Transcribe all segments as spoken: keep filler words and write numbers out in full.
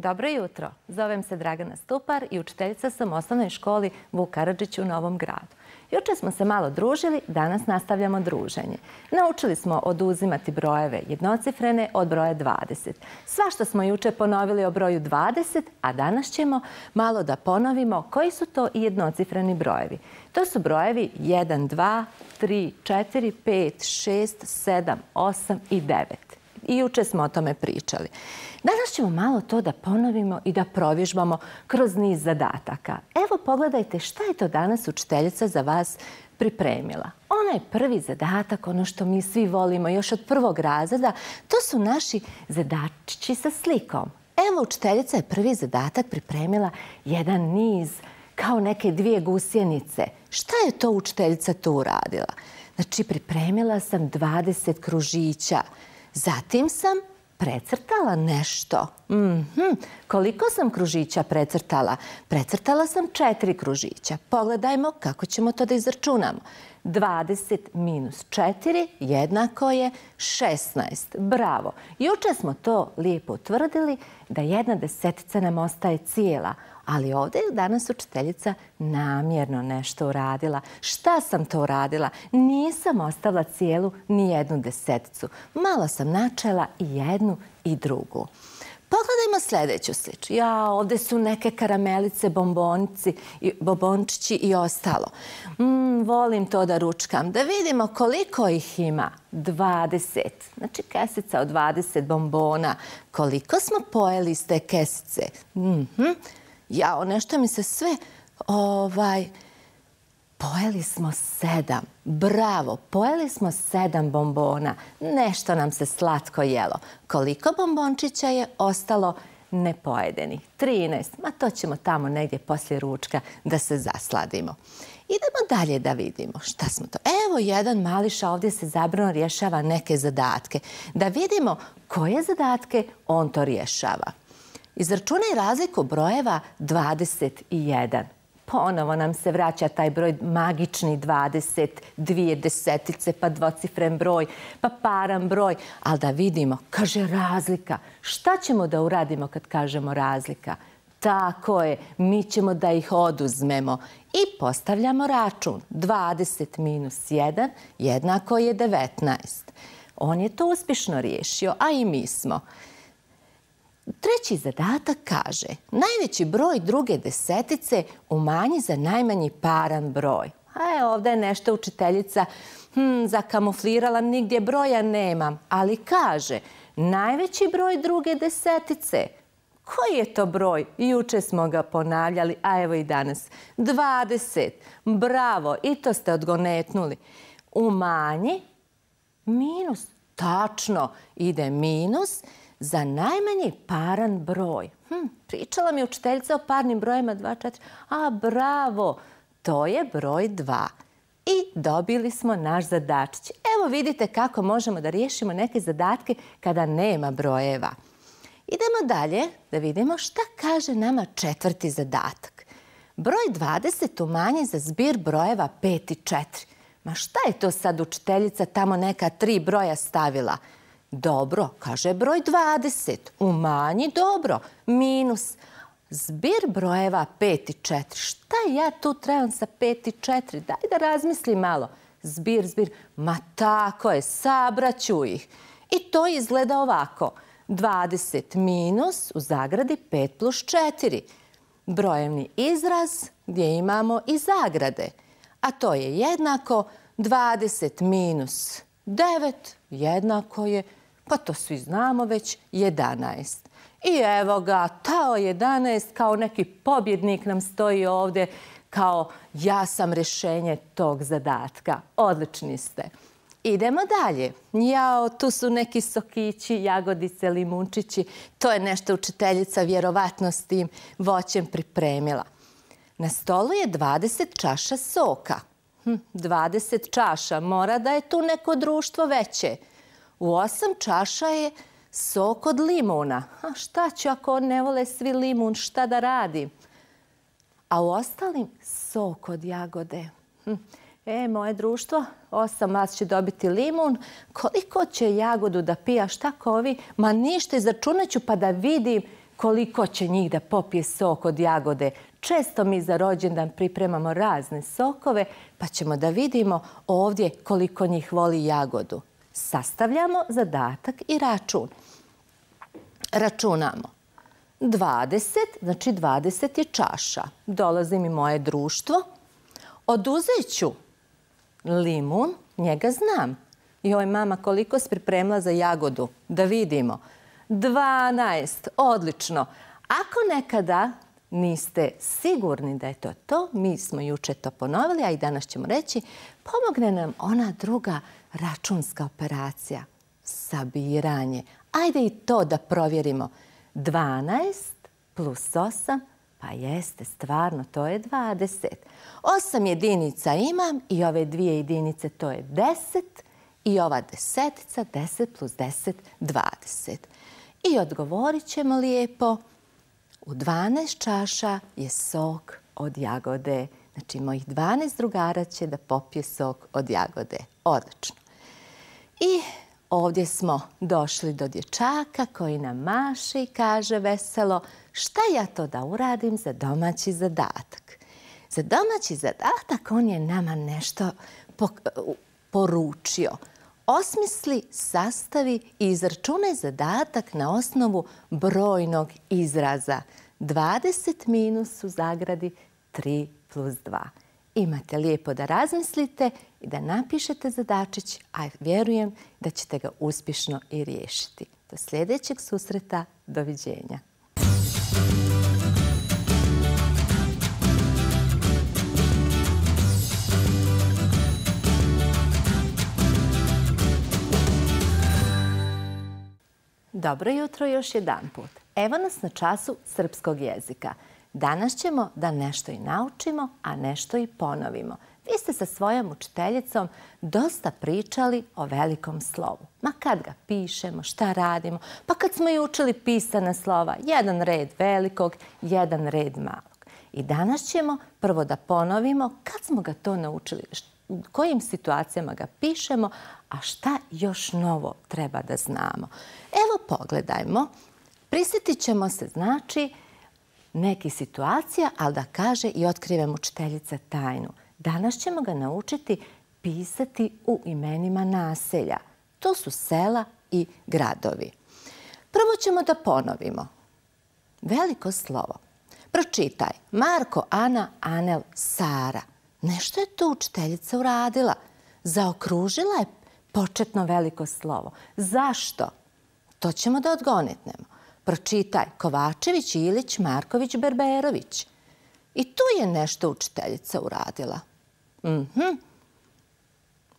Dobro jutro. Zovem se Dragana Stupar i učiteljica sam u osnovnoj školi Vuk Karadžić u Novom Gradu. Juče smo se malo družili, danas nastavljamo druženje. Naučili smo oduzimati brojeve jednocifrene od broja dvadeset. Svašta smo juče ponovili o broju dvadeset, a danas ćemo malo da ponovimo koji su to i jednocifreni brojevi. To su brojevi jedan, dva, tri, četiri, pet, šest, sedam, osam i devet. I juče smo o tome pričali. Danas ćemo malo to da ponovimo i da provježbamo kroz niz zadataka. Evo pogledajte šta je to danas učiteljica za vas pripremila. Onaj prvi zadatak, ono što mi svi volimo još od prvog razreda, to su naši zadačići sa slikom. Evo učiteljica je prvi zadatak pripremila jedan niz kao neke dvije gusjenice. Šta je to učiteljica tu uradila? Znači pripremila sam dvadeset kružića. Zatim sam precrtala nešto. Mm-hmm. Koliko sam kružića precrtala? Precrtala sam četiri kružića. Pogledajmo kako ćemo to da izračunamo. dvadeset minus četiri jednako je šesnaest. Bravo. Juče smo to lijepo utvrdili da jedna desetica nam ostaje cijela. Ali ovdje je danas učiteljica namjerno nešto uradila. Šta sam to uradila? Nisam ostavila cijelu ni jednu deseticu. Malo sam načela i jednu i drugu. Pogledajmo sljedeću sliču. Ja, ovdje su neke karamelice, bombonici, bombončići i ostalo. Mm, volim to da ručkam. Da vidimo koliko ih ima. dvadeset. Znači kesica od dvadeset bombona. Koliko smo pojeli iz te kesice? Mm-hmm. Jao, nešto mi se sve, ovaj, pojeli smo sedam. Bravo, pojeli smo sedam bombona. Nešto nam se slatko jelo. Koliko bombončića je ostalo nepojedeni? trinaest. Ma to ćemo tamo negdje poslije ručka da se zasladimo. Idemo dalje da vidimo šta smo to. Evo jedan mališa ovdje se zabrano rješava neke zadatke. Da vidimo koje zadatke on to rješava. Izračunaj razliku brojeva dvadeset jedan. Ponovo nam se vraća taj broj magični dvadeset, dvije desetice, pa dvocifren broj, pa paran broj. Ali da vidimo, kaže razlika. Šta ćemo da uradimo kad kažemo razlika? Tako je, mi ćemo da ih oduzmemo i postavljamo račun. dvadeset minus jedan jednako je devetnaest. On je to uspješno riješio, a i mi smo. Treći zadatak kaže, najveći broj druge desetice umanji za najmanji paran broj. A je ovdje nešto učiteljica hm, zakamuflirala, nigdje broja nemam, ali kaže, najveći broj druge desetice. Koji je to broj? Juče smo ga ponavljali, a evo i danas. dvadeset. Bravo, i to ste odgonetnuli. Umanji minus. Tačno, ide minus za najmanji paran broj. Hm, pričala mi učiteljica o parnim brojima dva, četiri. A, bravo, to je broj dva. I dobili smo naš zadačić. Evo vidite kako možemo da riješimo neke zadatke kada nema brojeva. Idemo dalje da vidimo šta kaže nama četvrti zadatak. Broj dvadeset umanji za zbir brojeva pet i četiri. Ma šta je to sad učiteljica tamo neka tri broja stavila? Dobro, kaže broj dvadeset. Umanji, dobro. Minus. Zbir brojeva pet i četiri. Šta ja tu trebam sa pet i četiri? Daj da razmislim malo. Zbir, zbir. Ma tako je, sabraću ih. I to izgleda ovako. dvadeset minus u zagradi pet plus četiri. Brojevni izraz gdje imamo i zagrade. A to je jednako dvadeset minus devet jednako je, pa to svi znamo već, jedanaest. I evo ga, tao jedanaest kao neki pobjednik nam stoji ovdje kao ja sam rješenje tog zadatka. Odlični ste. Idemo dalje. Jao, tu su neki sokići, jagodice, limunčići. To je nešto učiteljica vjerovatno s tim voćem pripremila. Na stolu je dvadeset čaša soka. Hm, dvadeset čaša, mora da je tu neko društvo veće. U osam čaša je sok od limuna. A šta ću ako ne vole svi limun, šta da radim? A u ostalim sok od jagode. Hm. E, moje društvo, osam vas će dobiti limun. Koliko će jagodu da pija, šta kovi? Ma ništa, izračunat ću pa da vidim koliko će njih da popije sok od jagode. Često mi za rođendan pripremamo razne sokove, pa ćemo da vidimo ovdje koliko njih voli jagodu. Sastavljamo zadatak i račun. Računamo. dvadeset, znači dvadeset je čaša. Dolazi mi moje društvo. Oduzet ću limun, njega znam. Joj, mama, koliko si pripremila za jagodu? Da vidimo. dvanaest, odlično. Ako nekada niste sigurni da je to to, mi smo juče to ponovili, a i danas ćemo reći, pomogne nam ona druga računska operacija, sabiranje. Ajde i to da provjerimo. dvanaest plus osam, pa jeste, stvarno, to je dvadeset. osam jedinica imam i ove dvije jedinice, to je deset. I ova desetica, deset plus deset, dvadeset. I odgovorit ćemo lijepo, u dvanaest čaša je sok od jagode. Znači, mojih dvanaest drugara će da popije sok od jagode. Odlično. I ovdje smo došli do dječaka koji nam maše i kaže veselo, šta ja to da uradim za domaći zadatak? Za domaći zadatak on je nama nešto poručio. Osmisli, sastavi i izračunaj zadatak na osnovu brojnog izraza. dvadeset minus u zagradi tri plus dva. Imate lijepo da razmislite i da napišete zadačić, a vjerujem da ćete ga uspješno i riješiti. Do sljedećeg susreta, doviđenja. Dobro jutro još jedan put. Evo nas na času srpskog jezika. Danas ćemo da nešto i naučimo, a nešto i ponovimo. Vi ste sa svojom učiteljicom dosta pričali o velikom slovu. Ma kad ga pišemo, šta radimo, pa kad smo i učili pisana slova, jedan red velikog, jedan red malog. I danas ćemo prvo da ponovimo kad smo ga to naučili, u kojim situacijama ga pišemo, a šta još novo treba da znamo. Evo pogledajmo, prisjetit ćemo se znači nekih situacija, ali da kaže i otkrivem učiteljica tajnu. Danas ćemo ga naučiti pisati u imenima naselja. To su sela i gradovi. Prvo ćemo da ponovimo. Veliko slovo. Pročitaj. Marko, Ana, Anel, Sara. Nešto je tu učiteljica uradila. Zaokružila je početno veliko slovo. Zašto? To ćemo da odgonetnemo. Pročitaj. Kovačević, Ilić, Marković, Berberović. I tu je nešto učiteljica uradila. Mhm.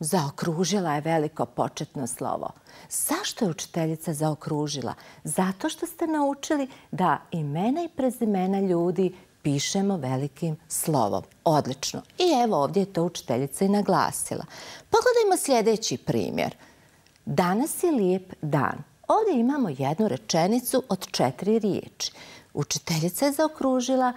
Zaokružila je veliko početno slovo. Zašto je učiteljica zaokružila? Zato što ste naučili da imena i prezimena ljudi pišemo velikim slovom. Odlično. I evo ovdje je to učiteljica i naglasila. Pogledajmo sljedeći primjer. Danas je lijep dan. Ovdje imamo jednu rečenicu od četiri riječi. Učiteljica je zaokružila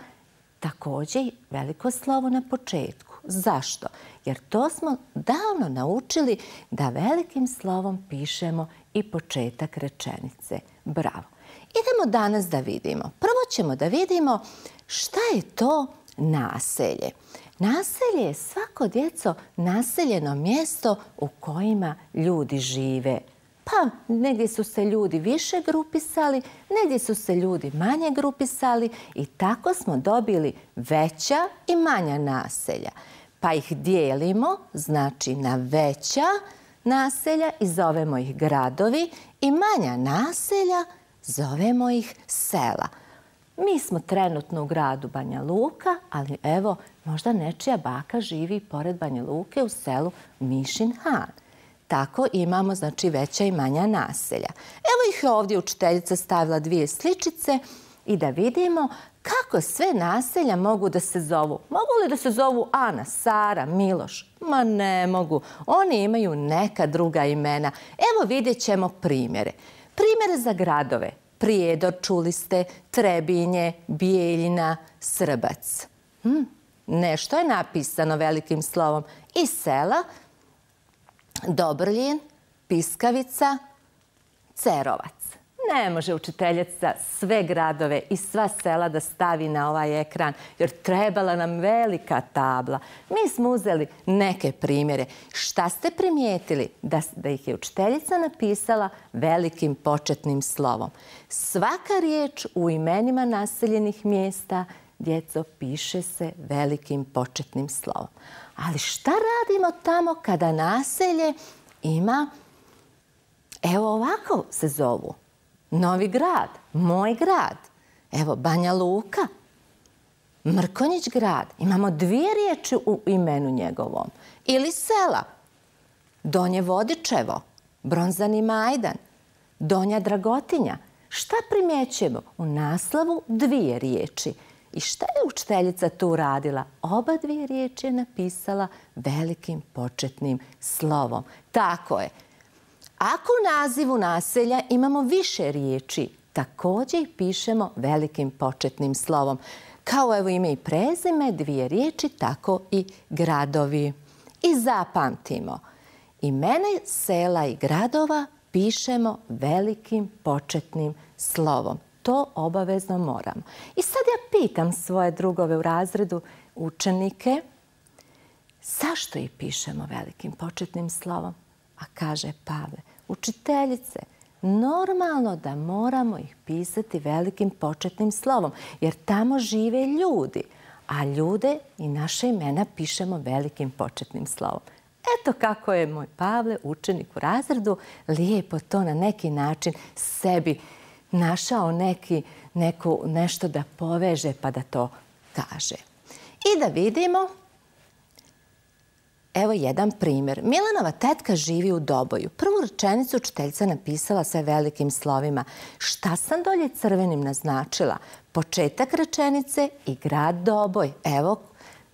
također veliko slovo na početku. Zašto? Jer to smo davno naučili da velikim slovom pišemo i početak rečenice. Bravo. Idemo danas da vidimo. Prvo ćemo da vidimo šta je to naselje. Naselje je svako djeco naseljeno mjesto u kojima ljudi žive. Pa negdje su se ljudi više grupisali, negdje su se ljudi manje grupisali i tako smo dobili veća i manja naselja. Pa ih dijelimo, znači na veća naselja i zovemo ih gradovi i manja naselja zovemo ih sela. Mi smo trenutno u gradu Banja Luka, ali evo, možda nečija baka živi pored Banja Luke u selu Mišin Han. Tako imamo, znači, veća i manja naselja. Evo ih je ovdje učiteljica stavila dvije sličice i da vidimo kako sve naselja mogu da se zovu. Mogu li da se zovu Ana, Sara, Miloš? Ma ne mogu. Oni imaju neka druga imena. Evo vidjet ćemo primjere. Primjere za gradove. Prijedor, čuli ste, Trebinje, Bijeljina, Srbac. Hm, nešto je napisano velikim slovom. I sela, Dobrljin, Piskavica, Cerovac. Ne može učiteljica sve gradove i sva sela da stavi na ovaj ekran, jer trebala nam velika tabla. Mi smo uzeli neke primjere. Šta ste primijetili? Da, da ih je učiteljica napisala velikim početnim slovom. Svaka riječ u imenima naseljenih mjesta, djeco, piše se velikim početnim slovom. Ali šta radimo tamo kada naselje ima, evo ovako se zovu, Novi Grad, moj grad, evo Banja Luka, Mrkonjić grad. Imamo dvije riječi u imenu njegovom. Ili sela, Donje Vodičevo, Bronzani Majdan, Donja Dragotinja. Šta primjećujemo? U naslovu dvije riječi. I šta je učiteljica tu radila? Oba dvije riječi je napisala velikim početnim slovom. Tako je. Ako u nazivu naselja imamo više riječi, također ih pišemo velikim početnim slovom. Kao evo ime i prezime, dvije riječi, tako i gradovi. I zapamtimo, imena sela i gradova pišemo velikim početnim slovom. To obavezno moramo. I sad ja pitam svoje drugove u razredu, učenike, zašto ih pišemo velikim početnim slovom? A kaže Pavle, učiteljice, normalno da moramo ih pisati velikim početnim slovom, jer tamo žive ljudi, a ljude i naše imena pišemo velikim početnim slovom. Eto kako je moj Pavle, učenik u razredu, lijepo to na neki način sebi našao neki, neku, nešto da poveže pa da to kaže. I da vidimo, evo jedan primjer. Milanova tetka živi u Doboju. Prvu rečenicu učiteljica napisala sve velikim slovima. Šta sam dolje crvenim naznačila? Početak rečenice i grad Doboj. Evo,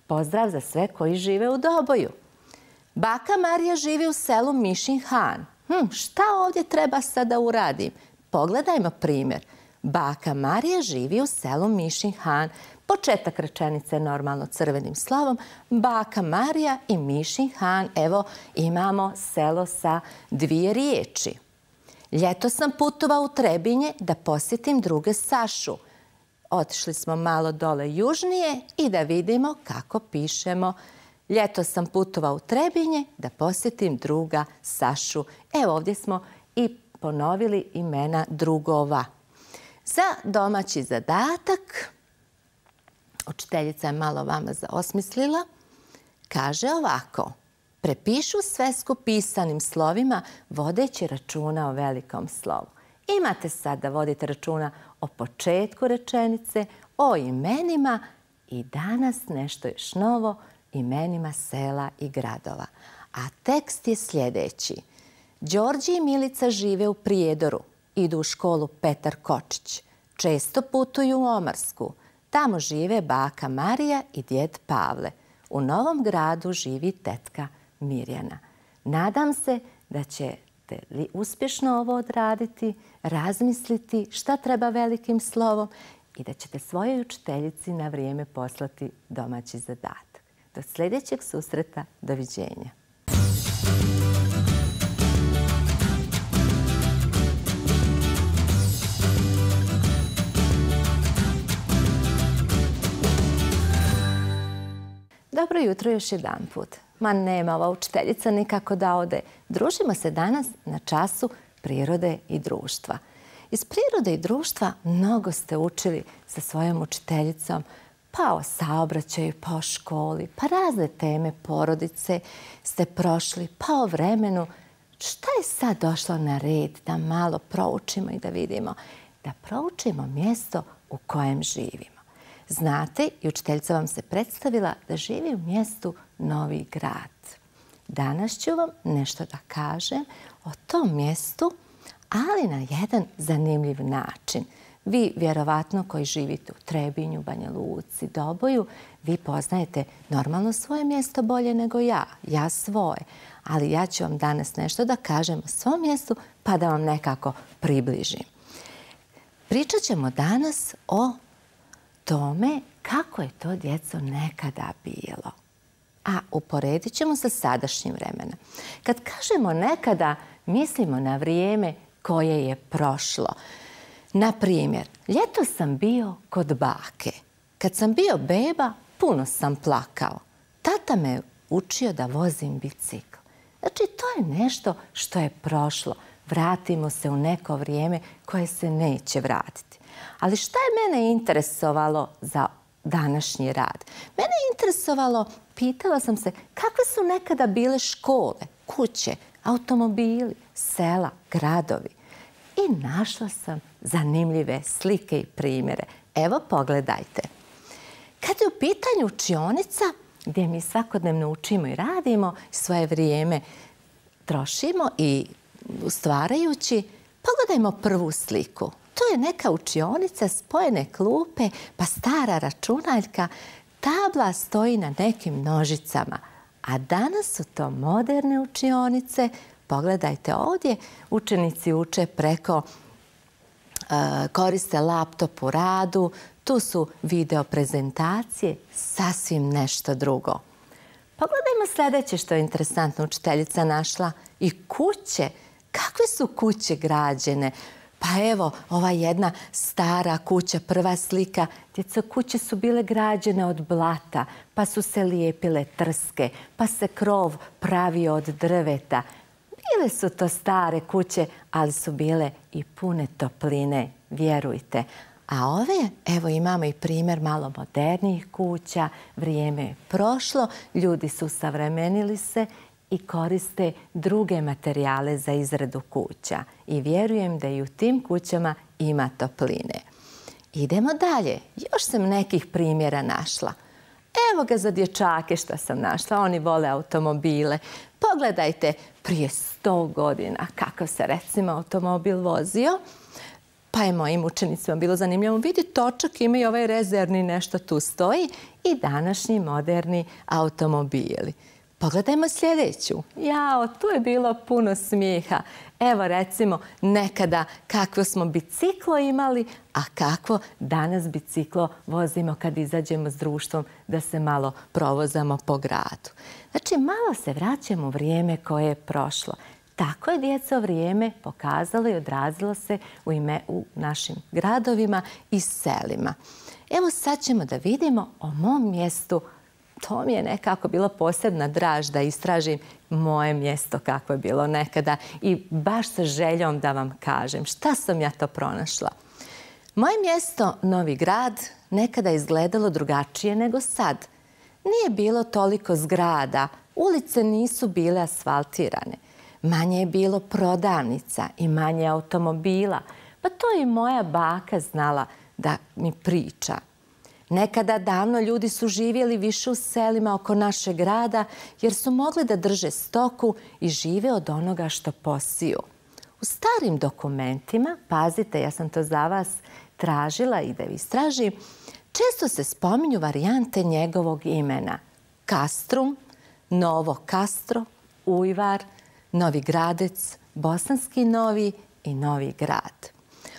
pozdrav za sve koji žive u Doboju. Baka Marija živi u selu Mišin Han. Hm, šta ovdje treba sad da uradim? Pogledajmo primjer. Baka Marija živi u selu Mišin Han. Početak rečenice normalno crvenim slovom. Baka Marija i Mišin Han. Evo imamo selo sa dvije riječi. Ljeto sam putovao u Trebinje da posjetim druge Sašu. Otišli smo malo dole južnije i da vidimo kako pišemo. Ljeto sam putovao u Trebinje da posjetim druga Sašu. Evo ovdje smo i ponovili imena drugova. Za domaći zadatak, učiteljica je malo vama zaosmislila, kaže ovako. Prepišu svesku pisanim slovima vodeći računa o velikom slovu. Imate sad da vodite računa o početku rečenice, o imenima i danas nešto još novo, imenima sela i gradova. A tekst je sljedeći. Đorđe i Milica žive u Prijedoru. Idu u školu Petar Kočić. Često putuju u Omarsku. Tamo žive baka Marija i djed Pavle. U Novom Gradu živi tetka Mirjana. Nadam se da ćete li uspješno ovo odraditi, razmisliti šta treba velikim slovom i da ćete svojoj učiteljici na vrijeme poslati domaći zadatak. Do sljedećeg susreta, doviđenja. Dobro jutro još jedan put. Ma nema ova učiteljica nikako da ode. Družimo se danas na času prirode i društva. Iz prirode i društva mnogo ste učili sa svojom učiteljicom, pa o saobraćaju, pa o školi, pa razne teme porodice ste prošli, pa o vremenu. Šta je sad došlo na red da malo proučimo i da vidimo? Da proučimo mjesto u kojem živimo. Znate, i učiteljica vam se predstavila da živi u mjestu Novi Grad. Danas ću vam nešto da kažem o tom mjestu, ali na jedan zanimljiv način. Vi, vjerovatno, koji živite u Trebinju, Banja Luci, Doboju, vi poznajete normalno svoje mjesto bolje nego ja. Ja svoje. Ali ja ću vam danas nešto da kažem o svom mjestu pa da vam nekako približim. Pričat ćemo danas o tome kako je to, djeco, nekada bilo. A uporedit ćemo sa sadašnjim vremenom. Kad kažemo nekada, mislimo na vrijeme koje je prošlo. Na primjer, ljeto sam bio kod bake. Kad sam bio beba, puno sam plakao. Tata me učio da vozim bicikl. Znači, to je nešto što je prošlo. Vratimo se u neko vrijeme koje se neće vratiti. Ali šta je mene interesovalo za današnji rad? Mene je interesovalo, pitala sam se, kakve su nekada bile škole, kuće, automobili, sela, gradovi. I našla sam zanimljive slike i primjere. Evo, pogledajte. Kad je u pitanju učionica, gdje mi svakodnevno učimo i radimo, svoje vrijeme trošimo i stvarajući, pogledajmo prvu sliku. To je neka učionica, spojene klupe, pa stara računaljka, tabla stoji na nekim nožicama. A danas su to moderne učionice. Pogledajte ovdje, učenici uče preko, koriste laptop u radu, tu su video prezentacije, sasvim nešto drugo. Pogledajmo sljedeće što je interesantno učiteljica našla. I kuće. Kakve su kuće građene? Pa evo, ova jedna stara kuća, prva slika. Djeco, kuće su bile građene od blata, pa su se lijepile trske, pa se krov pravio od drveta. Bile su to stare kuće, ali su bile i pune topline, vjerujte. A ove, evo imamo i primjer malo modernijih kuća, vrijeme je prošlo, ljudi su savremenili se i koriste druge materijale za izradu kuća. I vjerujem da i u tim kućama ima topline. Idemo dalje. Još sam nekih primjera našla. Evo ga za dječake što sam našla. Oni vole automobile. Pogledajte, prije sto godina kako se recimo automobil vozio. Pa je mojim učenicima bilo zanimljivo vidjeti točak, ima i ovaj rezervni nešto tu stoji i današnji moderni automobili. Pogledajmo sljedeću. Jao, tu je bilo puno smijeha. Evo recimo nekada kakvo smo biciklo imali, a kakvo danas biciklo vozimo kad izađemo s društvom da se malo provozamo po gradu. Znači malo se vraćamo u vrijeme koje je prošlo. Tako je djeco vrijeme pokazalo i odrazilo se u, ime, u našim gradovima i selima. Evo sad ćemo da vidimo o mom mjestu. To mi je nekako bilo posebna draž da istražim moje mjesto kako je bilo nekada i baš sa željom da vam kažem šta sam ja to pronašla. Moje mjesto, Novi Grad, nekada je izgledalo drugačije nego sad. Nije bilo toliko zgrada, ulice nisu bile asfaltirane. Manje je bilo prodavnica i manje automobila. Pa to i moja baka znala da mi priča. Nekada davno ljudi su živjeli više u selima oko našeg grada jer su mogli da drže stoku i žive od onoga što posiju. U starim dokumentima, pazite, ja sam to za vas tražila i da istražim, često se spominju varijante njegovog imena. Kastrum, Novo Kastro, Ujvar, Novi Gradec, Bosanski Novi i Novi Grad.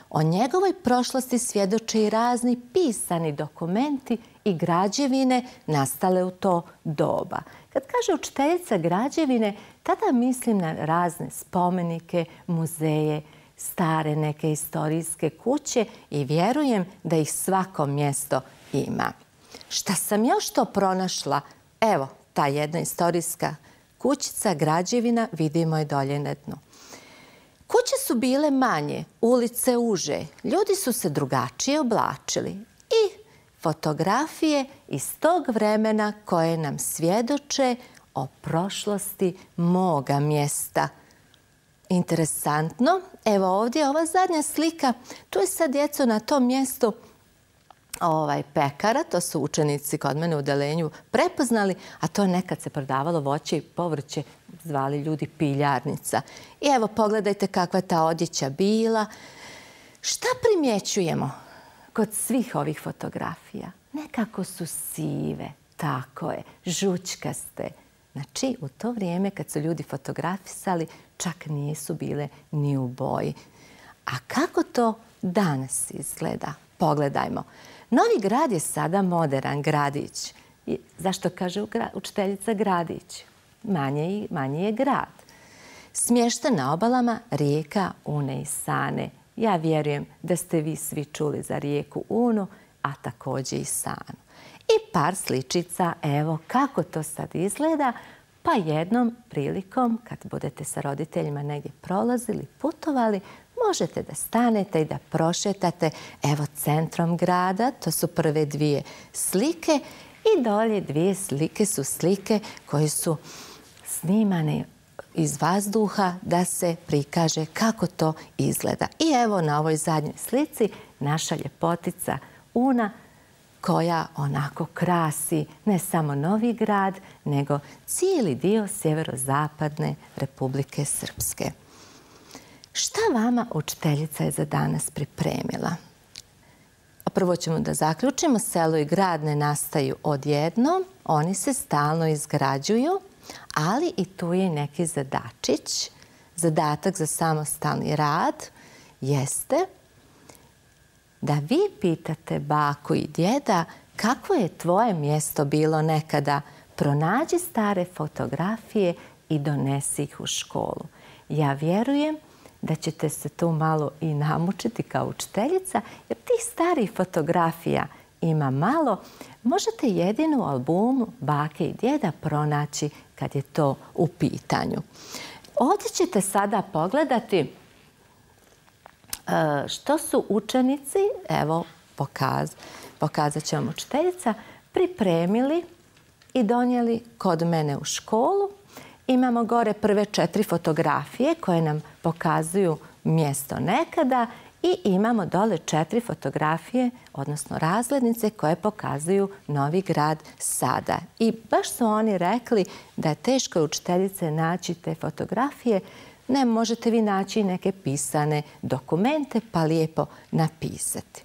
O njegovoj prošlosti svjedoče i razni pisani dokumenti i građevine nastale u to doba. Kad kaže učiteljica građevine, tada mislim na razne spomenike, muzeje, stare neke istorijske kuće i vjerujem da ih svako mjesto ima. Šta sam još to pronašla? Evo, ta jedna istorijska kućica, građevina, vidimo je dolje na dnu. Kuće su bile manje, ulice uže, ljudi su se drugačije oblačili i fotografije iz tog vremena koje nam svjedoče o prošlosti moga mjesta. Interesantno, evo ovdje ova zadnja slika, tu je sad djeco na tom mjestu ovaj pekara, to su učenici kod mene u odeljenju prepoznali, a to nekad se prodavalo voće i povrće, zvali ljudi piljarnica. I evo pogledajte kakva je ta odjeća bila. Šta primjećujemo kod svih ovih fotografija? Nekako su sive, tako je, žućkaste. Znači, u to vrijeme kad su ljudi fotografisali, čak nisu bile ni u boji. A kako to danas izgleda? Pogledajmo. Novi Grad je sada moderan gradić. Zašto kaže učiteljica gradić? Manje je grad. Smješten na obalama rijeka Une i Sane. Ja vjerujem da ste vi svi čuli za rijeku Unu, a također i Sanu. I par sličica, evo kako to sad izgleda, pa jednom prilikom kad budete sa roditeljima negdje prolazili, putovali, možete da stanete i da prošetate evo centrom grada, to su prve dvije slike i dolje dvije slike su slike koje su snimane iz vazduha da se prikaže kako to izgleda. I evo na ovoj zadnjoj slici naša ljepotica Una koja onako krasi ne samo Novi Grad, nego cijeli dio sjeverozapadne Republike Srpske. Šta vama učiteljica je za danas pripremila? Prvo ćemo da zaključimo, selo i grad ne nastaju odjednom, oni se stalno izgrađuju, ali i tu je neki zadačić. Zadatak za samostalni rad jeste da vi pitate baku i djeda kako je tvoje mjesto bilo nekada. Pronađi stare fotografije i donesi ih u školu. Ja vjerujem da ćete se tu malo i namučiti kao učiteljica, jer tih starih fotografija ima malo. Možete jedinu albumu bake i djeda pronaći kad je to u pitanju. Ovdje ćete sada pogledati što su učenici, evo pokaz, pokazat će vam učiteljica, pripremili i donijeli kod mene u školu. Imamo gore prve četiri fotografije koje nam pokazuju mjesto nekada i imamo dole četiri fotografije, odnosno razglednice koje pokazuju Novi Grad sada. I baš su oni rekli da je teško učiteljice naći te fotografije. Ne, možete vi naći neke pisane dokumente pa lijepo napisati.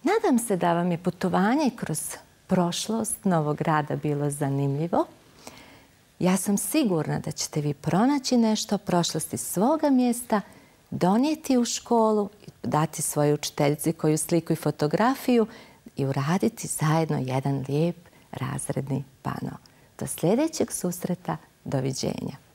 Nadam se da vam je putovanje kroz prošlost Novog Grada bilo zanimljivo. Ja sam sigurna da ćete vi pronaći nešto o prošlosti svoga mjesta, donijeti u školu, dati svojoj učiteljici koju sliku i fotografiju i uraditi zajedno jedan lijep razredni pano. Do sljedećeg susreta, doviđenja.